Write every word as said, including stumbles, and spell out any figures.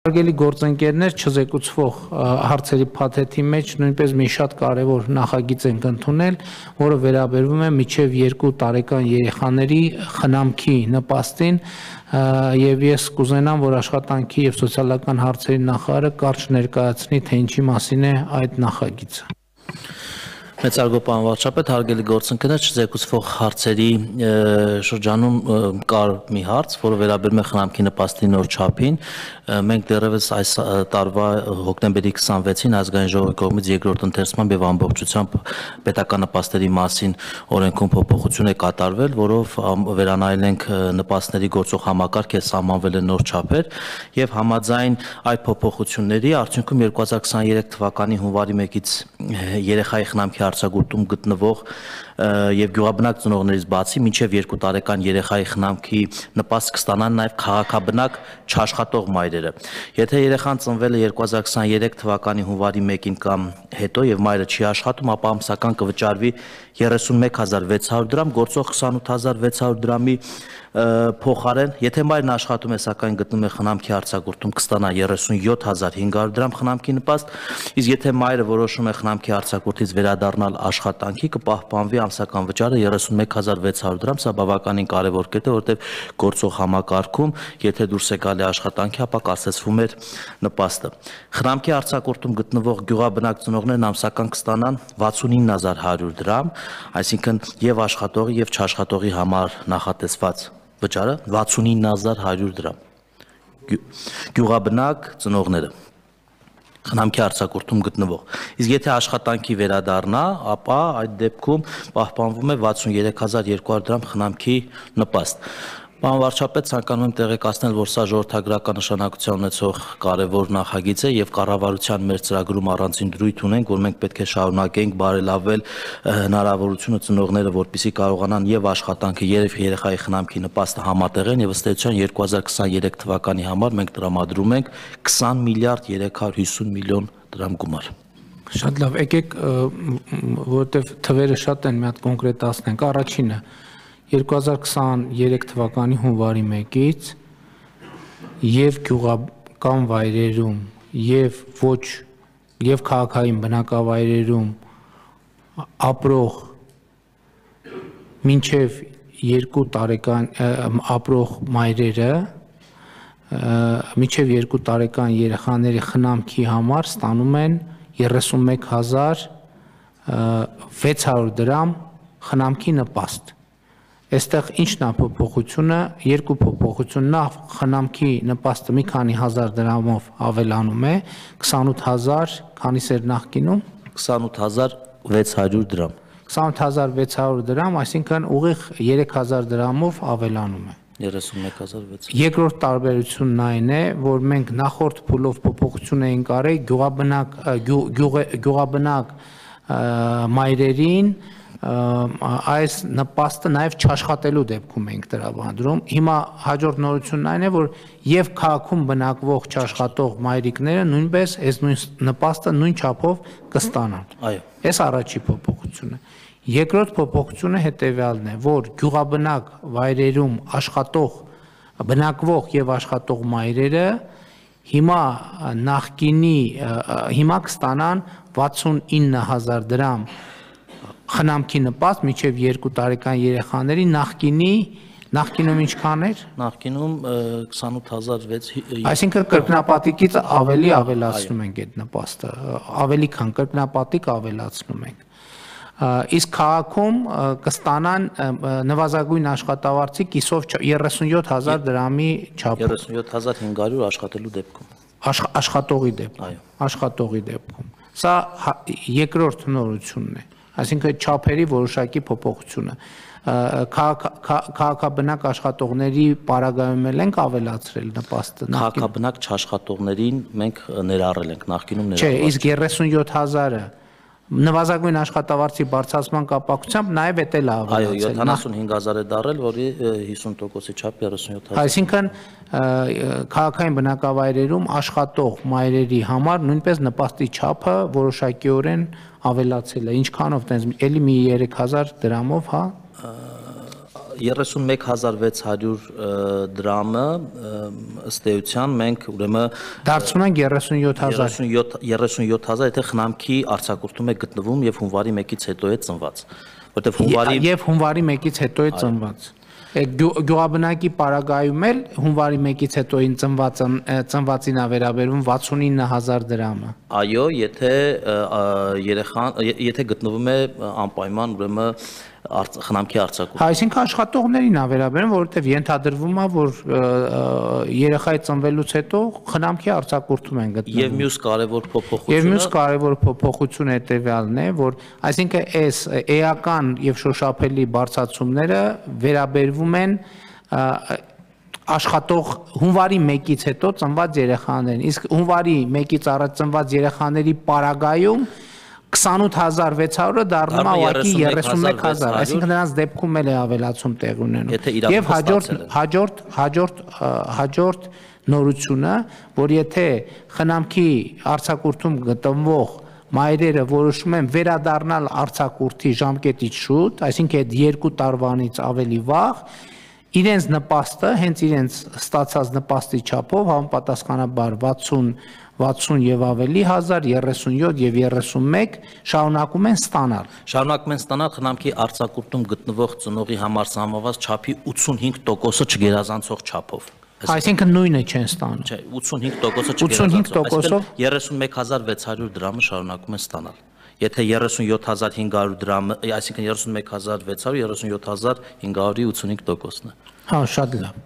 Հարգելի գործընկերներ, չզեկուցվող հարցերի փաթեթի մեջ նույնպես մի շատ կարևոր նախագիծ ենք ընդունել, որը վերաբերվում է մինչև երկու տարեկան երեխաների խնամքի նպաստին, եւ ես կուզենամ, որ աշխատանքի եւ սոցիալական հարցերի նախարարը կարճ ներկայացնի, թե ինչի մասին է այդ նախագիծը։ Մեծարգո պարոն վարչապետ, հարգելի գործընկերներ, չզեկուցվող հարցերի շրջանում կար մի հարց, որը վերաբերում է խնամքի նպաստի նոր չափին։ Մենք դեռևս այս տարվա հոկտեմբերի քսանվեցին ազգային ժողովի կողմից երկրորդ ընթերցման եւ ամբողջությամբ պետական նպաստերի մասին օրենքում փոփոխություն է կատարվել, որով վերանայել ենք նպաստների գործող համակարգը, սահմանվել են նոր չափեր եւ համաձայն այդ փոփոխությունների արդյունքում երկու հազար քսաներեք թվականի հունվարի մեկից երեխայի խնամքի արձակուրդում գտնվող եւ գյուղաբնակ ծնողներից բացի մինչեւ երկու տարեկան երեխայի խնամքի նպաստ կստանան նաեւ քաղաքաբնակ չաշխատող մայրերը։ Եթե երեխան ծնվել է երկու հազար քսաներեք թվականի հունվարի մեկին կամ հետո եւ մայրը չի աշխատում, ապա ամսական կվճարվի երեսունմեկ հազար վեց հարյուր դրամ, գործող քսանութ հազար վեց հարյուր դրամի փոխարեն, եթե մայրն աշխատում է, սակայն գտնում է խնամքի արձակուրդում, կստանա երեսունյոթ հազար հինգ հարյուր դրամ խնամքի նպաստ, իսկ եթե մայրը որոշում է խնամքի արձակուրդից վերադառնալ աշխատանքի, կպահպանվի ամսական վճարը երեսունմեկ հազար վեց հարյուր դրամ, սա բավականին կարևոր կետ է, որովհետև գործող համակարգում, եթե դուրս է գալի աշխատանքի, ապա կասեցվում էր նպաստը։ Խնամքի արձակուրդում գտնվող գյուղաբնակ ծնողներն ամսական կստանան վաթսունինը հազար հարյուր դրամ, այսինքն եւ աշխատողի եւ չաշխատողի համար նախատեսված վճարը վաթսունինը հազար հարյուր դրամ։ Գյուղաբնակ ծնողները խնամքի արձակուրդում գտնվող։ Իսկ եթե աշխատանքի վերադառնա, ապա այդ դեպքում պահպանվում է վաթսուներեք հազար երկու հարյուր դրամ խնամքի նպաստ։ Պարոն վարչապետ, ցանկանում եմ տեղեկացնել, որ սա ժողովրդագրական նշանակության ունեցող կարևոր նախագիծ է եւ կառավարության մեր ծրագրում առանձին դրույթ ունենք, որ մենք պետք է շարունակենք բարելավել հնարավորությունը ծնողները, որպեսզի կարողանան եւ աշխատանքը եւ երեխայի խնամքի նպաստը համատեղեն եւ ըստ էության երկու հազար քսաներեք թվականի համար մենք տրամադրում ենք քսան միլիարդ երեք հարյուր հիսուն միլիոն դրամ գումար։ Շատ լավ, եկեք, որովհետեւ թվերը շատ են, մի հատ կոնկրետացնենք։ Առաջինը երկու հազար քսաներեք թվականի հունվարի մեկից եւ գյուղական վայրերում եւ ոչ եւ քաղաքային բնակավայրերում ապրող մինչեւ երկու տարեկան ապրող մայրերը մինչեւ երկու տարեկան երեխաների խնամքի համար ստանում են երեսունմեկ հազար վեց հարյուր դրամ խնամքի նպաստ։ Այստեղ ինչն է փոփոխությունը, երկու փոփոխություն, նախ խնամքի նպաստը մի քանի հազար դրամով ավելանում է, քսանութ հազար, քանիս էր նախկինում, քսանութ հազար վեց հարյուր դրամ։ քսանութ հազար վեց հարյուր դրամ, այսինքն ուղիղ երեք հազար դրամով ավելանում է։ երեսունմեկ հազար վեց։ Երկրորդ տարբերությունն այն է, որ մենք նախորդ փուլով փոփոխություն էինք արել գյուղաբնակ գյուղաբնակ մայրերին այս նպաստը նաև չաշխատելու դեպքում ենք տրամադրում։ Հիմա հաջորդ նորությունն այն է, որ եւ քաղաքում բնակվող չաշխատող մայրիկները նույնպես այս նույն նպաստը նույն չափով կստանան։ Այո։ Այս առաջի փոփոխությունը։ Երկրորդ փոփոխությունը հետեւյալն է, որ գյուղաբնակ վայրերում աշխատող բնակվող եւ աշխատող մայրերը հիմա նախկինի հիմա կստանան վաթսունինը հազար դրամ խնամքի նպաստ մինչև երկու տարեկան երեխաների նախկինի նախկինում ինչքան էր։ Նախկինում քսանութ հազար վեց։ Այսինքն կրկնապատիկից ավելի ավելացնում ենք այդ նպաստը, ավելի քան կրկնապատիկ ավելացնում ենք։ Իսկ քաղաքում կստանան նվազագույն աշխատավարձի կիսով երեսունյոթ հազար դրամի չափ։ երեսունյոթ հազար հինգ հարյուր աշխատելու դեպքում։ Աշխատողի դեպքում։ Աշխատողի դեպքում։ Սա երկրորդ նորությունն է։ Այսինքն չափերի որոշակի փոփոխությունը քաղաքաբնակ աշխատողների պարագայում ենք ավելացրել նպաստը։ Քաղաքաբնակ չաշխատողներին մենք ներառել ենք նախկինում ներառել։ Չէ, իսկ երեսունյոթ հազարը նվազագույն աշխատավարձի բարձրացման կապակցությամբ նաև էդ էլ է ավելացել։ Այո, յոթանասունհինգ հազար է դարել, որի հիսուն տոկոսի չափ երեսունյոթ հազար։ Այսինքն քաղաքային բնակավայրերում աշխատող մայրերի համար նույնպես նպաստի չափը որոշակիորեն ավելացել է։ Ինչքանով տենց էլի մի երեք հազար դրամով, հա։ երեսունմեկ հազար վեց հարյուր դրամը ըստ էության մենք ուրեմն դարձնում ենք երեսունյոթ հազար երեսունյոթ հազար եթե խնամքի արձակուրդում է գտնվում եւ հունվարի մեկից հետո է ծնված, որտեղ հունվարի եւ հունվարի մեկից հետո է ծնված։ Գյուղաբնակի պարագայում էլ հունվարի մեկից հետո ին ծնվածին է վերաբերվում վաթսունինը հազար դրամը։ Այո, եթե երեխան եթե գտնվում է անպայման ուրեմն խնամքի արձակուրդ։ Այսինքն աշխատողներին է վերաբերում, որովհետև ենթադրվում է, որ երեխայի ծնվելուց հետո խնամքի արձակուրդում են գտնվում։ Եվ մյուս կարևոր փոփոխությունը Եվ մյուս կարևոր փոփոխությունը հետևյալն է, որ այսինքն այս էական եւ շոշափելի բարձրացումները վերաբերվում են աշխատող հունվարի մեկից հետո ծնված երեխաներին, իսկ հունվարի մեկից առաջ ծնված երեխաների պարագայում քսանութ հազար վեց հարյուրը դառնում է ուղղակի երեսունմեկ հազար, այսինքն նրանց դեպքում էլ է ավելացում տեղ ունենում։ Եվ հաջորդ հաջորդ հաջորդ հաջորդ նորությունը, որ եթե խնամքի արձակուրդում գտնվող մայրերը որոշում են վերադառնալ արձակուրդի ժամկետից շուտ, այսինքն այդ երկու տարվանից ավելի վաղ, իրենց նպաստը, հենց իրենց ստացած նպաստի չափով համապատասխանաբար վաթսուն վաթսուն եւ ավելի հազար, երեսունյոթ եւ երեսունմեկ շարունակում են ստանալ։ Շարունակում են ստանալ խնամքի արձակուրդում գտնվող ծնողի համար սահմանված չափի ութսունհինգ տոկոսը չգերազանցող չափով։ Այսինքն նույնը չեն ստանում։ Չէ, ութսունհինգ տոկոսը չգերազանցող, երեսունմեկ հազար վեց հարյուր դրամը շարունակում են ստանալ։ Եթե երեսունյոթ հազար հինգ հարյուր դրամը, այսինքն երեսունմեկ հազար վեց հարյուր, երեսունյոթ հազար հինգ հարյուրի ութսունհինգ տոկոսն է։ Հա, շատ լավ։